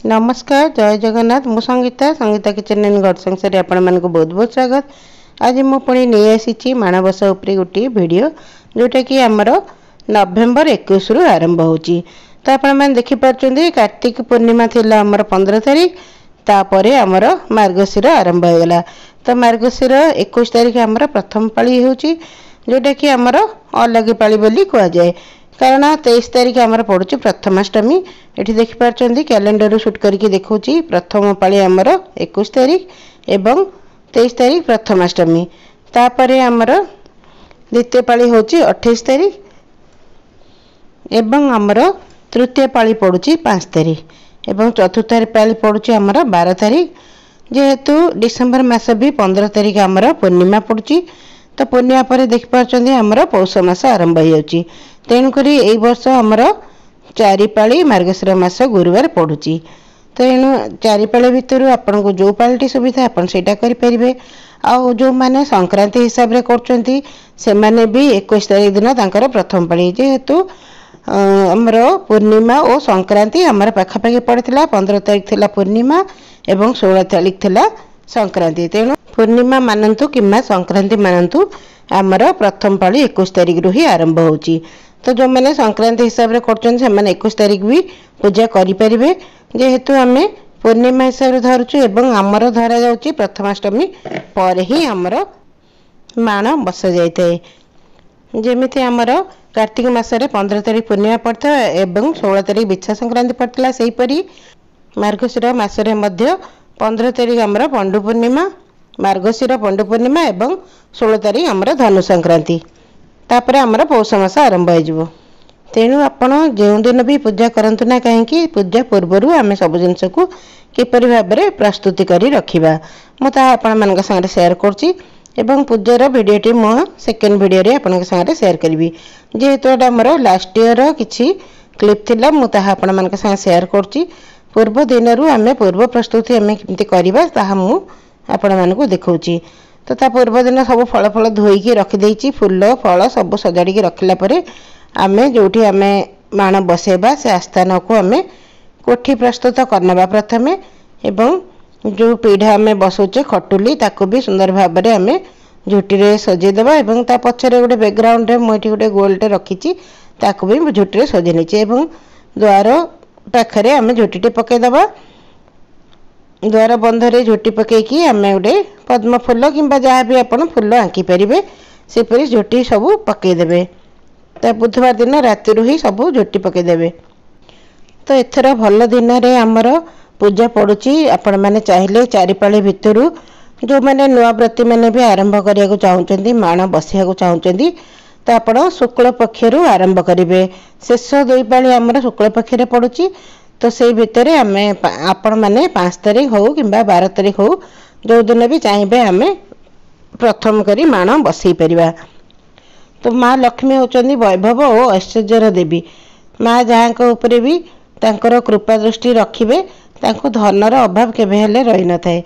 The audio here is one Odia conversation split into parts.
ନମସ୍କାର, ଜୟ ଜଗନ୍ନାଥ। ମୁଁ ସଙ୍ଗୀତା, ସଙ୍ଗୀତା କିଚେନ୍ ଆଣ୍ଡ ଘର ସଂସାରରେ ଆପଣମାନଙ୍କୁ ବହୁତ ବହୁତ ସ୍ୱାଗତ। ଆଜି ମୁଁ ପୁଣି ନେଇ ଆସିଛି ମାଣବସା ଉପରେ ଗୋଟିଏ ଭିଡ଼ିଓ, ଯେଉଁଟାକି ଆମର ନଭେମ୍ବର 21ରୁ ଆରମ୍ଭ ହେଉଛି। ତ ଆପଣମାନେ ଦେଖିପାରୁଛନ୍ତି, କାର୍ତ୍ତିକ ପୂର୍ଣ୍ଣିମା ଥିଲା ଆମର 15 ତାରିଖ, ତାପରେ ଆମର ମାର୍ଗଶିର ଆରମ୍ଭ ହୋଇଗଲା। ତ ମାର୍ଗଶିର 21 ତାରିଖ ଆମର ପ୍ରଥମ ପାଳି ହେଉଛି, ଯେଉଁଟାକି ଆମର ଅଲଗି ପାଳି ବୋଲି କୁହାଯାଏ, କାରଣ 23 ତାରିଖ ଆମର ପଡ଼ୁଛି ପ୍ରଥମାଷ୍ଟମୀ। ଏଠି ଦେଖିପାରୁଛନ୍ତି, କ୍ୟାଲେଣ୍ଡରରୁ ସୁଟ୍ କରିକି ଦେଖାଉଛି, ପ୍ରଥମ ପାଳି ଆମର 21 ତାରିଖ ଏବଂ 23 ତାରିଖ ପ୍ରଥମାଷ୍ଟମୀ। ତାପରେ ଆମର ଦ୍ୱିତୀୟ ପାଳି ହେଉଛି 28 ତାରିଖ ଏବଂ ଆମର ତୃତୀୟ ପାଳି ପଡ଼ୁଛି 5 ତାରିଖ ଏବଂ ଚତୁର୍ଥ ପାଳି ପଡ଼ୁଛି ଆମର 12 ତାରିଖ। ଯେହେତୁ ଡିସେମ୍ବର ମାସ ବି 15 ତାରିଖ ଆମର ପୂର୍ଣ୍ଣିମା ପଡ଼ୁଛି, ତ ପୂର୍ଣ୍ଣିମା ପରେ ଦେଖିପାରୁଛନ୍ତି ଆମର ପୌଷ ମାସ ଆରମ୍ଭ ହୋଇଯାଉଛି। ତେଣୁକରି ଏଇ ବର୍ଷ ଆମର 4 ପାଳି ମାର୍ଗଶିର ମାସ ଗୁରୁବାର ପଡ଼ୁଛି। ତେଣୁ 4 ପାଳି ଭିତରୁ ଆପଣଙ୍କୁ ଯେଉଁ ପାଳିଟି ସୁବିଧା, ଆପଣ ସେଇଟା କରିପାରିବେ। ଆଉ ଯେଉଁମାନେ ସଂକ୍ରାନ୍ତି ହିସାବରେ କରୁଛନ୍ତି, ସେମାନେ ବି 21 ତାରିଖ ଦିନ ତାଙ୍କର ପ୍ରଥମ ପାଳି। ଯେହେତୁ ଆମର ପୂର୍ଣ୍ଣିମା ଓ ସଂକ୍ରାନ୍ତି ଆମର ପାଖାପାଖି ପଡ଼ିଥିଲା, 15 ତାରିଖ ଥିଲା ପୂର୍ଣ୍ଣିମା ଏବଂ 16 ତାରିଖ ଥିଲା ସଂକ୍ରାନ୍ତି, ତେଣୁ ପୂର୍ଣ୍ଣିମା ମାନନ୍ତୁ କିମ୍ବା ସଂକ୍ରାନ୍ତି ମାନନ୍ତୁ, ଆମର ପ୍ରଥମ ପାଳି 21 ତାରିଖରୁ ହିଁ ଆରମ୍ଭ ହେଉଛି। ତ ଯେଉଁମାନେ ସଂକ୍ରାନ୍ତି ହିସାବରେ କରୁଛନ୍ତି, ସେମାନେ 21 ତାରିଖ ବି ପୂଜା କରିପାରିବେ। ଯେହେତୁ ଆମେ ପୂର୍ଣ୍ଣିମା ହିସାବରେ ଧରୁଛୁ ଏବଂ ଆମର ଧରାଯାଉଛି ପ୍ରଥମାଷ୍ଟମୀ ପରେ ହିଁ ଆମର ମାଣ ବସାଯାଇଥାଏ। ଯେମିତି ଆମର କାର୍ତ୍ତିକ ମାସରେ 15 ତାରିଖ ପୂର୍ଣ୍ଣିମା ପଡ଼ିଥାଏ ଏବଂ 16 ତାରିଖ ବିଛା ସଂକ୍ରାନ୍ତି ପଡ଼ିଥିଲା, ସେହିପରି ମାର୍ଗଶିର ମାସରେ ମଧ୍ୟ 15 ତାରିଖ ଆମର ପଣ୍ଡୁ ପୂର୍ଣ୍ଣିମା, ମାର୍ଗଶିର ପଣ୍ଡୁ ପୂର୍ଣ୍ଣିମା ଏବଂ 16 ତାରିଖ ଆମର ଧନୁ ସଂକ୍ରାନ୍ତି। ତାପରେ ଆମର ପୌଷ ମାସ ଆରମ୍ଭ ହୋଇଯିବ। ତେଣୁ ଆପଣ ଯେଉଁଦିନ ବି ପୂଜା କରନ୍ତୁ ନା କାହିଁକି, ପୂଜା ପୂର୍ବରୁ ଆମେ ସବୁ ଜିନିଷକୁ କିପରି ଭାବରେ ପ୍ରସ୍ତୁତି କରି ରଖିବା, ମୁଁ ତାହା ଆପଣମାନଙ୍କ ସାଙ୍ଗରେ ସେୟାର କରୁଛି ଏବଂ ପୂଜାର ଭିଡ଼ିଓଟି ମୁଁ ସେକେଣ୍ଡ ଭିଡ଼ିଓରେ ଆପଣଙ୍କ ସାଙ୍ଗରେ ସେୟାର କରିବି। ଯେହେତୁ ଏଇଟା ଆମର ଲାଷ୍ଟ ଇୟର କିଛି କ୍ଲିପ୍ ଥିଲା, ମୁଁ ତାହା ଆପଣମାନଙ୍କ ସାଙ୍ଗେ ସେୟାର କରୁଛି। ପୂର୍ବ ଦିନରୁ ଆମେ ପୂର୍ବ ପ୍ରସ୍ତୁତି ଆମେ କେମିତି କରିବା, ତାହା ମୁଁ ଆପଣମାନଙ୍କୁ ଦେଖାଉଛି। ତ ତା ପୂର୍ବ ଦିନ ସବୁ ଫଳ ଫଳ ଧୋଇକି ରଖିଦେଇଛି, ଫୁଲ ଫଳ ସବୁ ସଜାଡ଼ିକି ରଖିଲା ପରେ ଆମେ ଯେଉଁଠି ଆମେ ମାଣ ବସେଇବା, ସେ ଆସ୍ଥାନକୁ ଆମେ କୋଠି ପ୍ରସ୍ତୁତ କରିନେବା ପ୍ରଥମେ ଏବଂ ଯେଉଁ ପିଢ଼ା ଆମେ ବସଉଛେ, ଖଟୁଲି, ତାକୁ ବି ସୁନ୍ଦର ଭାବରେ ଆମେ ଝୋଟିରେ ସଜେଇଦେବା ଏବଂ ତା ପଛରେ ଗୋଟେ ବ୍ୟାକଗ୍ରାଉଣ୍ଡରେ ମୁଁ ଏଠି ଗୋଟେ ଗୋଲଟେ ରଖିଛି, ତାକୁ ବି ମୁଁ ଝୋଟିରେ ସଜେଇ ନେଇଛି ଏବଂ ଦ୍ୱାର ପାଖରେ ଆମେ ଝୋଟିଟେ ପକାଇଦେବା। ଦ୍ୱାର ବନ୍ଧରେ ଝୋଟି ପକାଇକି ଆମେ ଗୋଟେ ପଦ୍ମ ଫୁଲ କିମ୍ବା ଯାହା ବି ଆପଣ ଫୁଲ ଆଙ୍କି ପାରିବେ, ସେପରି ଝୋଟି ସବୁ ପକାଇଦେବେ। ତା ବୁଧବାର ଦିନ ରାତିରୁ ହିଁ ସବୁ ଝୋଟି ପକାଇଦେବେ। ତ ଏଥର ଭଲ ଦିନରେ ଆମର ପୂଜା ପଡ଼ୁଛି। ଆପଣମାନେ ଚାହିଁଲେ ଚାରିପାଳି ଭିତରୁ ଯେଉଁମାନେ ନୂଆ ବ୍ରତୀମାନେ ବି ଆରମ୍ଭ କରିବାକୁ ଚାହୁଁଛନ୍ତି, ମାଣ ବସିବାକୁ ଚାହୁଁଛନ୍ତି, ତ ଆପଣ ଶୁକ୍ଳ ପକ୍ଷରୁ ଆରମ୍ଭ କରିବେ। ଶେଷ 2 ପାଳି ଆମର ଶୁକ୍ଳ ପକ୍ଷରେ ପଡ଼ୁଛି। ତ ସେଇ ଭିତରେ ଆମେ ଆପଣମାନେ 5 ତାରିଖ ହେଉ କିମ୍ବା 12 ତାରିଖ ହେଉ, ଯେଉଁଦିନ ବି ଚାହିଁବେ ଆମେ ପ୍ରଥମ କରି ମାଣ ବସେଇ ପାରିବା। ତ ମା ଲକ୍ଷ୍ମୀ ହେଉଛନ୍ତି ବୈଭବ ଓ ଐଶ୍ୱର୍ଯ୍ୟର ଦେବୀ। ମା ଯାହାଙ୍କ ଉପରେ ବି ତାଙ୍କର କୃପା ଦୃଷ୍ଟି ରଖିବେ, ତାଙ୍କୁ ଧନର ଅଭାବ କେବେ ହେଲେ ରହିନଥାଏ।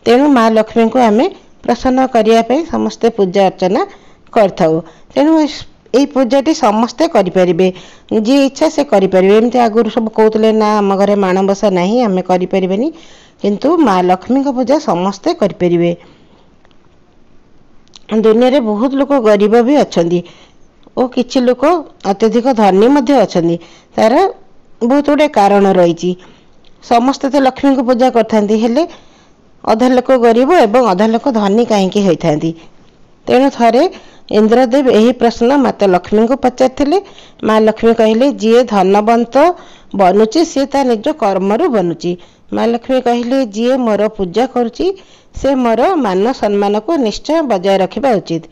ତେଣୁ ମା ଲକ୍ଷ୍ମୀଙ୍କୁ ଆମେ ପ୍ରସନ୍ନ କରିବା ପାଇଁ ସମସ୍ତେ ପୂଜା ଅର୍ଚ୍ଚନା କରିଥାଉ। ତେଣୁ ଏଇ ପୂଜାଟି ସମସ୍ତେ କରିପାରିବେ, ଯିଏ ଇଚ୍ଛା ସେ କରିପାରିବେ। ଏମିତି ଆଗରୁ ସବୁ କହୁଥିଲେ, ନା ଆମ ଘରେ ମାଣବସା ନାହିଁ, ଆମେ କରିପାରିବେନି, କିନ୍ତୁ ମା ଲକ୍ଷ୍ମୀଙ୍କ ପୂଜା ସମସ୍ତେ କରିପାରିବେ। ଦୁନିଆରେ ବହୁତ ଲୋକ ଗରିବ ବି ଅଛନ୍ତି ଓ କିଛି ଲୋକ ଅତ୍ୟଧିକ ଧନୀ ମଧ୍ୟ ଅଛନ୍ତି। ତାର ବହୁତ ଗୁଡ଼ିଏ କାରଣ ରହିଛି। ସମସ୍ତେ ତ ଲକ୍ଷ୍ମୀଙ୍କୁ ପୂଜା କରିଥାନ୍ତି, ହେଲେ ଅଧା ଲୋକ ଗରିବ ଏବଂ ଅଧା ଲୋକ ଧନୀ କାହିଁକି ହୋଇଥାନ୍ତି? ତେଣୁ ଥରେ ଇନ୍ଦ୍ରଦେବ ଏହି ପ୍ରଶ୍ନ ମାତା ଲକ୍ଷ୍ମୀଙ୍କୁ ପଚାରିଥିଲେ। ମା ଲକ୍ଷ୍ମୀ କହିଲେ, ଯିଏ ଧନବନ୍ତ ବନୁଛି ସିଏ ତା ନିଜ କର୍ମରୁ ବନୁଛି। ମା ଲକ୍ଷ୍ମୀ କହିଲେ, ଯିଏ ମୋର ପୂଜା କରୁଛି ସେ ମୋର ମାନ ସମ୍ମାନକୁ ନିଶ୍ଚୟ ବଜାୟ ରଖିବା ଉଚିତ।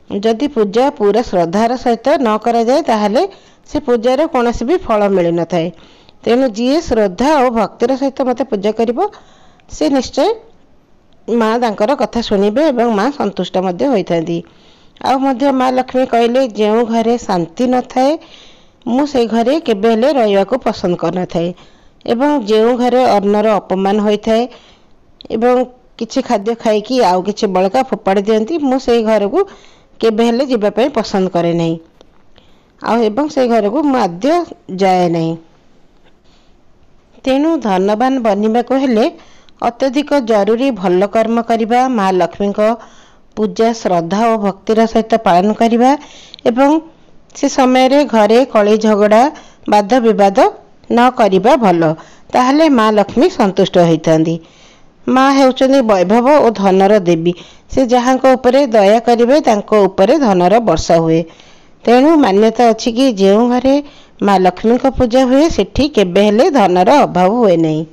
ଯଦି ପୂଜା ପୁରା ଶ୍ରଦ୍ଧାର ସହିତ ନ କରାଯାଏ, ତାହେଲେ ସେ ପୂଜାର କୌଣସି ବି ଫଳ ମିଳିନଥାଏ। ତେଣୁ ଯିଏ ଶ୍ରଦ୍ଧା ଓ ଭକ୍ତିର ସହିତ ମୋତେ ପୂଜା କରିବ, ସେ ନିଶ୍ଚୟ ମା ତାଙ୍କର କଥା ଶୁଣିବେ ଏବଂ ମା ସନ୍ତୁଷ୍ଟ ମଧ୍ୟ ହୋଇଥାନ୍ତି। ଆଉ ମଧ୍ୟ ମା ଲକ୍ଷ୍ମୀ କହିଲେ, ଯେଉଁ ଘରେ ଶାନ୍ତି ନଥାଏ ମୁଁ ସେଇ ଘରେ କେବେ ହେଲେ ରହିବାକୁ ପସନ୍ଦ କରିନଥାଏ ଏବଂ ଯେଉଁ ଘରେ ଅନ୍ନର ଅପମାନ ହୋଇଥାଏ ଏବଂ କିଛି ଖାଦ୍ୟ ଖାଇକି ଆଉ କିଛି ବଳକା ଫୋପାଡ଼ି ଦିଅନ୍ତି, ମୁଁ ସେଇ ଘରକୁ କେବେ ହେଲେ ଯିବା ପାଇଁ ପସନ୍ଦ କରେ ନାହିଁ ଆଉ ଏବଂ ସେଇ ଘରକୁ ମୁଁ ଆଦ୍ୟ ଯାଏ ନାହିଁ। ତେଣୁ ଧନବାନ ବନିବାକୁ ହେଲେ ଅତ୍ୟଧିକ ଜରୁରୀ ଭଲ କର୍ମ କରିବା, ମା ଲକ୍ଷ୍ମୀଙ୍କ ପୂଜା ଶ୍ରଦ୍ଧା ଓ ଭକ୍ତିର ସହିତ ପାଳନ କରିବା ଏବଂ ସେ ସମୟରେ ଘରେ କଳି ଝଗଡ଼ା ବାଦ ବିବାଦ ନ କରିବା ଭଲ। ତାହେଲେ ମା ଲକ୍ଷ୍ମୀ ସନ୍ତୁଷ୍ଟ ହୋଇଥାନ୍ତି। ମା ହେଉଛନ୍ତି ବୈଭବ ଓ ଧନର ଦେବୀ। ସେ ଯାହାଙ୍କ ଉପରେ ଦୟା କରିବେ ତାଙ୍କ ଉପରେ ଧନର ବର୍ଷା ହୁଏ। ତେଣୁ ମାନ୍ୟତା ଅଛି କି ଯେଉଁ ଘରେ ମା ଲକ୍ଷ୍ମୀଙ୍କ ପୂଜା ହୁଏ ସେଠି କେବେ ହେଲେ ଧନର ଅଭାବ ହୁଏ ନାହିଁ।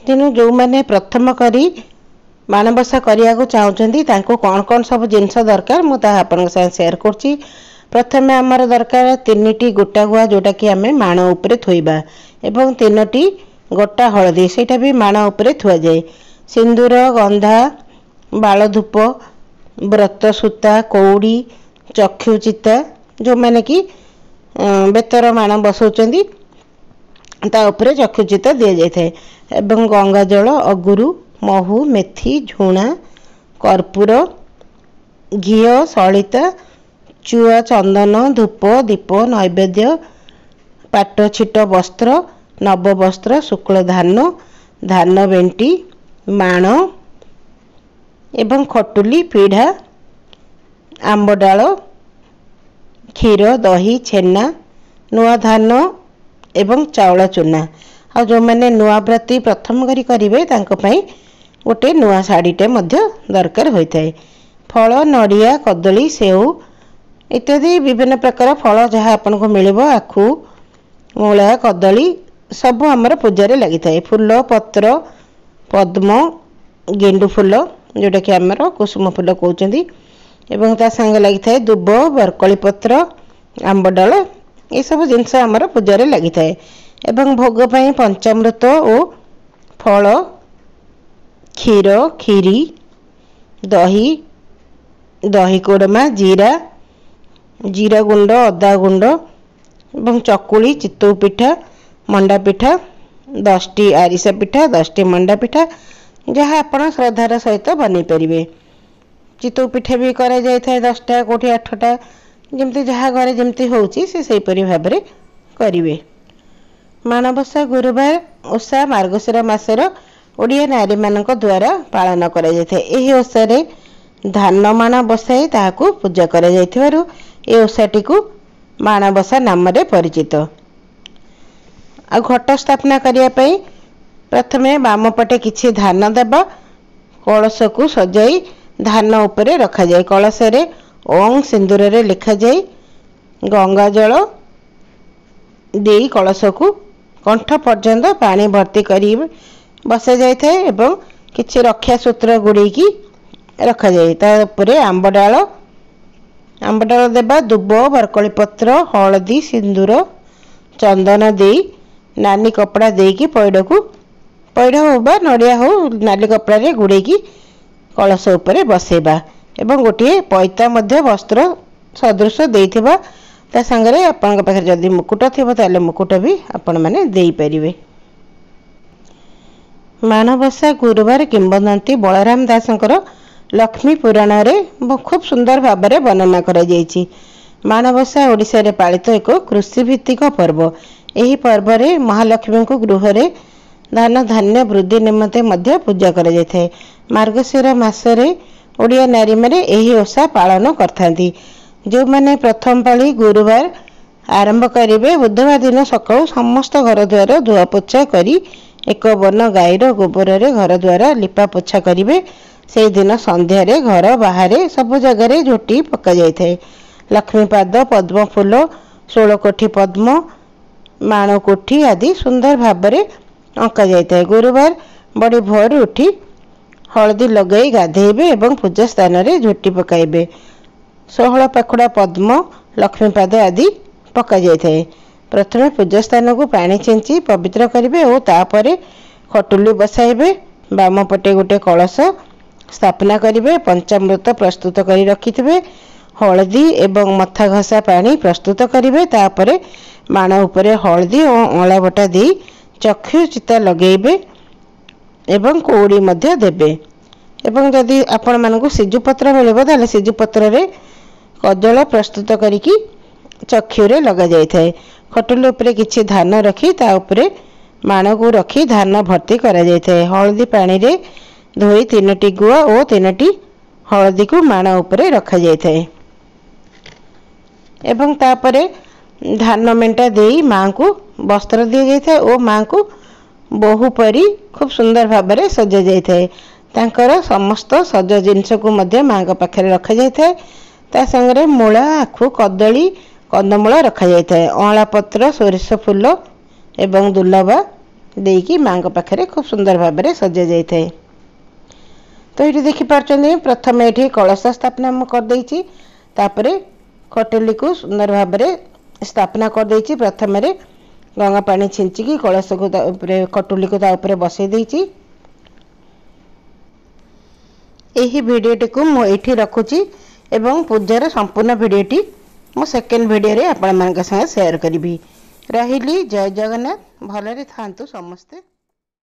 ତେଣୁ ଯେଉଁମାନେ ପ୍ରଥମ କରି ମାଣବସା କରିବାକୁ ଚାହୁଁଛନ୍ତି ତାଙ୍କୁ କ'ଣ କ'ଣ ସବୁ ଜିନିଷ ଦରକାର ମୁଁ ତାହା ଆପଣଙ୍କ ସାଙ୍ଗେ ସେୟାର କରୁଛି। ପ୍ରଥମେ ଆମର ଦରକାର 3ଟି ଗୋଟା ଗୁଆ, ଯେଉଁଟାକି ଆମେ ମାଣ ଉପରେ ଥୋଇବା, ଏବଂ 3ଟି ଗୋଟା ହଳଦୀ, ସେଇଟା ବି ମାଣ ଉପରେ ଥୁଆଯାଏ। ସିନ୍ଦୁର, ଗନ୍ଧା, ବାଳଧୂପ, ବ୍ରତ ସୂତା, କଉଡ଼ି, ଚକ୍ଷୁ ଚିତା, ଯେଉଁମାନେ କି ବେତର ମାଣ ବସାଉଛନ୍ତି ତା ଉପରେ ଚକ୍ଷୁ ଚିତା ଦିଆଯାଇଥାଏ, ଏବଂ ଗଙ୍ଗାଜଳ, ଅଗୁରୁ, ମହୁ, ମେଥି, ଝୁଣା, କର୍ପୂର, ଘିଅ, ସଳିତା, ଚୁଆ, ଚନ୍ଦନ, ଧୂପ, ଦୀପ, ନୈବେଦ୍ୟ, ପାଟ ଛିଟ ବସ୍ତ୍ର, ନବବସ୍ତ୍ର, ଶୁକ୍ଳ ଧାନ, ଧାନ ବେଣ୍ଟି, ମାଣ ଏବଂ ଖଟୁଲି, ପିଢ଼ା, ଆମ୍ବ ଡାଳ, କ୍ଷୀର, ଦହି, ଛେନା, ନୂଆ ଧାନ ଏବଂ ଚାଉଳ ଚୁନା। ଆଉ ଯେଉଁମାନେ ନୂଆ ବ୍ରତୀ ପ୍ରଥମ କରି କରିବେ ତାଙ୍କ ପାଇଁ ଗୋଟେ ନୂଆ ଶାଢ଼ୀଟେ ମଧ୍ୟ ଦରକାର ହୋଇଥାଏ। ଫଳ, ନଡ଼ିଆ, କଦଳୀ, ସେଉ ଇତ୍ୟାଦି ବିଭିନ୍ନ ପ୍ରକାର ଫଳ ଯାହା ଆପଣଙ୍କୁ ମିଳିବ, ଆଖୁ, ମୂଳା, କଦଳୀ ସବୁ ଆମର ପୂଜାରେ ଲାଗିଥାଏ। ଫୁଲ, ପତ୍ର, ପଦ୍ମ, ଗେଣ୍ଡୁ ଫୁଲ ଯେଉଁଟାକି ଆମର କୁସୁମ ଫୁଲ କହୁଛନ୍ତି, ଏବଂ ତା ସାଙ୍ଗେ ଲାଗିଥାଏ ଦୁବ, ବରକୋଳି ପତ୍ର, ଆମ୍ବ ଡାଳ, ଏସବୁ ଜିନିଷ ଆମର ପୂଜାରେ ଲାଗିଥାଏ। ଏବଂ ଭୋଗ ପାଇଁ ପଞ୍ଚାମୃତ ଓ ଫଳ, କ୍ଷୀର, କ୍ଷୀରି, ଦହି, ଦହି କୋଡ଼ମା, ଜିରା, ଜିରା ଗୁଣ୍ଡ, ଅଦା ଗୁଣ୍ଡ ଏବଂ ଚକୁଳି, ଚିତଉ ପିଠା, ମଣ୍ଡା ପିଠା, 10ଟି ଆରିସା ପିଠା, 10ଟି ମଣ୍ଡା ପିଠା, ଯାହା ଆପଣ ଶ୍ରଦ୍ଧାର ସହିତ ବନେଇ ପାରିବେ। ଚିତଉ ପିଠା ବି କରାଯାଇଥାଏ 10ଟା, କେଉଁଠି 8ଟା, ଯେମିତି ଯାହା ଘରେ ଯେମିତି ହେଉଛି ସେ ସେହିପରି ଭାବରେ କରିବେ। ମାଣବସା ଗୁରୁବାର ଓଷା ମାର୍ଗଶିର ମାସର ଓଡ଼ିଆ ନାରୀମାନଙ୍କ ଦ୍ୱାରା ପାଳନ କରାଯାଇଥାଏ। ଏହି ଓଷାରେ ଧାନ ମାଣ ବସାଇ ତାହାକୁ ପୂଜା କରାଯାଇଥିବାରୁ ଏ ଓଷାଟିକୁ ମାଣବସା ନାମରେ ପରିଚିତ। ଆଉ ଘଟ ସ୍ଥାପନା କରିବା ପାଇଁ ପ୍ରଥମେ ବାମ ପଟେ କିଛି ଧାନ ଦେବା, କଳସକୁ ସଜାଇ ଧାନ ଉପରେ ରଖାଯାଏ। କଳସରେ ଓଁ ସିନ୍ଦୁରରେ ଲେଖାଯାଇ ଗଙ୍ଗାଜଳ ଦେଇ କଳସକୁ କଣ୍ଠ ପର୍ଯ୍ୟନ୍ତ ପାଣି ଭର୍ତ୍ତି କରି ବସାଯାଇଥାଏ ଏବଂ କିଛି ରକ୍ଷା ସୂତ୍ର ଗୁଡ଼େଇକି ରଖାଯାଏ। ତା ଉପରେ ଆମ୍ବ ଡାଳ, ଆମ୍ବ ଡାଳ ଦେବା, ଦୁବ, ବରକୋଳି ପତ୍ର, ହଳଦୀ, ସିନ୍ଦୁର, ଚନ୍ଦନ ଦେଇ ନାଲି କପଡ଼ା ଦେଇକି ପଇଡ଼କୁ, ପଇଡ଼ ହଉ ବା ନଡ଼ିଆ ହଉ, ନାଲି କପଡ଼ାରେ ଗୁଡ଼େଇକି କଳସ ଉପରେ ବସେଇବା ଏବଂ ଗୋଟିଏ ପଇତା ମଧ୍ୟ ବସ୍ତ୍ର ସଦୃଶ ଦେଇଥିବା। ତା ସାଙ୍ଗରେ ଆପଣଙ୍କ ପାଖରେ ଯଦି ମୁକୁଟ ଥିବ ତାହେଲେ ମୁକୁଟ ବି ଆପଣମାନେ ଦେଇପାରିବେ। ମାଣବସା ଗୁରୁବାର କିମ୍ବଦନ୍ତୀ ବଳରାମ ଦାସଙ୍କର ଲକ୍ଷ୍ମୀ ପୁରାଣରେ ଖୁବ୍ ସୁନ୍ଦର ଭାବରେ ବର୍ଣ୍ଣନା କରାଯାଇଛି। ମାଣବସା ଓଡ଼ିଶାରେ ପାଳିତ ଏକ କୃଷିଭିତ୍ତିକ ପର୍ବ। ଏହି ପର୍ବରେ ମହାଲକ୍ଷ୍ମୀଙ୍କୁ ଗୃହରେ ଧନ ଧାନ୍ୟ ବୃଦ୍ଧି ନିମନ୍ତେ ମଧ୍ୟ ପୂଜା କରାଯାଇଥାଏ। ମାର୍ଗଶିର ମାସରେ ଓଡ଼ିଆ ନାରୀମାନେ ଏହି ଓଷା ପାଳନ କରିଥାନ୍ତି। ଯେଉଁମାନେ ପ୍ରଥମ ପାଳି ଗୁରୁବାର ଆରମ୍ଭ କରିବେ, ବୁଧବାର ଦିନ ସକାଳୁ ସମସ୍ତ ଘର ଦ୍ୱାର ଧୁଆ ପୋଛା କରି ଏକ ବନ ଗାଈର ଗୋବରରେ ଘର ଦ୍ୱାର ଲିପା ପୋଛା କରିବେ। ସେଇଦିନ ସନ୍ଧ୍ୟାରେ ଘର ବାହାରେ ସବୁ ଜାଗାରେ ଝୋଟି ପକାଯାଇଥାଏ। ଲକ୍ଷ୍ମୀପାଦ, ପଦ୍ମ ଫୁଲ, ଷୋଳକୋଠି ପଦ୍ମ, ମାଣକୋଠି ଆଦି ସୁନ୍ଦର ଭାବରେ ଅଙ୍କା ଯାଇଥାଏ। ଗୁରୁବାର ବଡ଼ି ଭୋରୁ ଉଠି ହଳଦୀ ଲଗାଇ ଗାଧେଇବେ ଏବଂ ପୂଜା ସ୍ଥାନରେ ଝୋଟି ପକାଇବେ। 16 ପାଖୁଡ଼ା ପଦ୍ମ, ଲକ୍ଷ୍ମୀପାଦ ଆଦି ପକାଯାଇଥାଏ। ପ୍ରଥମେ ପୂଜା ସ୍ଥାନକୁ ପାଣି ଛିଞ୍ଚି ପବିତ୍ର କରିବେ ଓ ତାପରେ ଖଟୁଲି ବସାଇବେ। ବାମ ପଟେ ଗୋଟେ କଳସ ସ୍ଥାପନା କରିବେ। ପଞ୍ଚାମୃତ ପ୍ରସ୍ତୁତ କରି ରଖିଥିବେ। ହଳଦୀ ଏବଂ ମଥା ଘଷା ପାଣି ପ୍ରସ୍ତୁତ କରିବେ। ତାପରେ ମାଣ ଉପରେ ହଳଦୀ ଓ ଅଁଳା ବଟା ଦେଇ ଚକ୍ଷୁ ଚିତା ଲଗେଇବେ ଏବଂ କଉଡ଼ି ମଧ୍ୟ ଦେବେ। ଏବଂ ଯଦି ଆପଣମାନଙ୍କୁ ସିଜୁପତ୍ର ମିଳିବ ତାହେଲେ ସିଜୁପତ୍ରରେ କଜଳ ପ୍ରସ୍ତୁତ କରିକି ଚକ୍ଷୁରେ ଲଗାଯାଇଥାଏ। ଖଟୁଲି ଉପରେ କିଛି ଧାନ ରଖି ତା ଉପରେ ମାଣକୁ ରଖି ଧାନ ଭର୍ତ୍ତି କରାଯାଇଥାଏ। ହଳଦୀ ପାଣିରେ ଧୋଇ 3ଟି ଗୁଆ ଓ 3ଟି ହଳଦୀକୁ ମାଣ ଉପରେ ରଖାଯାଇଥାଏ ଏବଂ ତାପରେ ଧାନ ମେଣ୍ଟା ଦେଇ ମାଆଙ୍କୁ ବସ୍ତ୍ର ଦିଆଯାଇଥାଏ ଓ ମାଆଙ୍କୁ ବୋହୂ ପରି ଖୁବ୍ ସୁନ୍ଦର ଭାବରେ ସଜାଯାଇଥାଏ। ତାଙ୍କର ସମସ୍ତ ସଜ ଜିନିଷକୁ ମଧ୍ୟ ମାଆଙ୍କ ପାଖରେ ରଖାଯାଇଥାଏ। ତା ସାଙ୍ଗରେ ମୂଳା, ଆଖୁ, କଦଳୀ, କନ୍ଦମୂଳ ରଖାଯାଇଥାଏ। ଅଁଳା ପତ୍ର, ସୋରିଷ ଫୁଲ ଏବଂ ଦୁଲବା ଦେଇକି ମାଆଙ୍କ ପାଖରେ ଖୁବ୍ ସୁନ୍ଦର ଭାବରେ ସଜାଯାଇଥାଏ। ତ ଏଇଠି ଦେଖିପାରୁଛନ୍ତି, ପ୍ରଥମେ ଏଠି କଳସ ସ୍ଥାପନା ମୁଁ କରିଦେଇଛି, ତାପରେ ଖଟୁଲିକୁ ସୁନ୍ଦର ଭାବରେ ସ୍ଥାପନା କରିଦେଇଛି। ପ୍ରଥମରେ ଗଙ୍ଗା ପାଣି ଛିଞ୍ଚିକି କଳସକୁ ତା ଉପରେ, ଖଟୁଲିକୁ ତା ଉପରେ ବସେଇ ଦେଇଛି। ଏହି ଭିଡ଼ିଓଟିକୁ ମୁଁ ଏଇଠି ରଖୁଛି ଏବଂ ପୂଜାର ସମ୍ପୂର୍ଣ୍ଣ ଭିଡ଼ିଓଟି ମୁଁ ସେକେଣ୍ଡ ଭିଡ଼ିଓରେ ଆପଣମାନଙ୍କ ସାଙ୍ଗେ ସେୟାର କରିବି। ରହିଲି, ଜୟ ଜଗନ୍ନାଥ। ଭଲରେ ଥାଆନ୍ତୁ ସମସ୍ତେ।